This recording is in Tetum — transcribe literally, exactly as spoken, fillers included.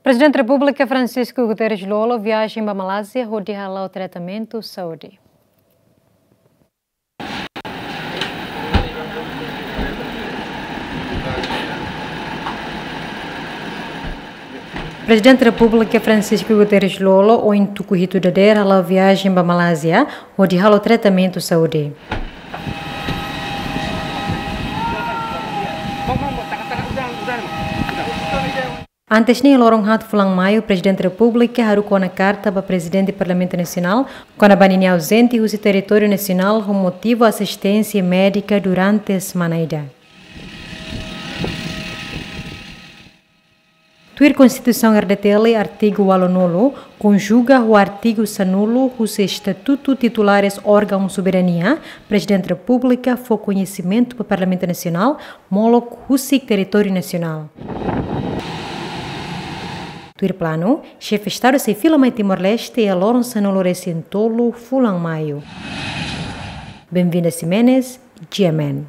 Prezidente Repúblika Francisco Guterres Lú-Olo viajen ba Malázia hodi hala'o tratamentu saúde. Prezidente Repúblika Francisco Guterres Lú-Olo ohin tuku hitu dadeer hala'o viajen ba Malázia hodi hala'o tratamentu saúde. Antes ne'e, loron haat fulan Maiu, Prezidente Repúblika haruka ona karta ba Prezidente Parlamentu Nasionál kona-ba ninia auzente husi territóriu nasionál ho motivu asisténsia médika durante semana ida. Tuir Konstituisaun R D T L artigu ualunulu, konjuga ho artigu sanulu husi Estatutu Titulares Órgaun Soberania, Prezidente Repúblika fó koñesimentu ba Parlamentu Nasionál molok husik territóriu nasionál. Tuir planu, Xefe Estadu sei fila mai Timor-Leste iha loron sanulu-resin-tolu fulan Maiu. Benvinda Ximenes, G M N.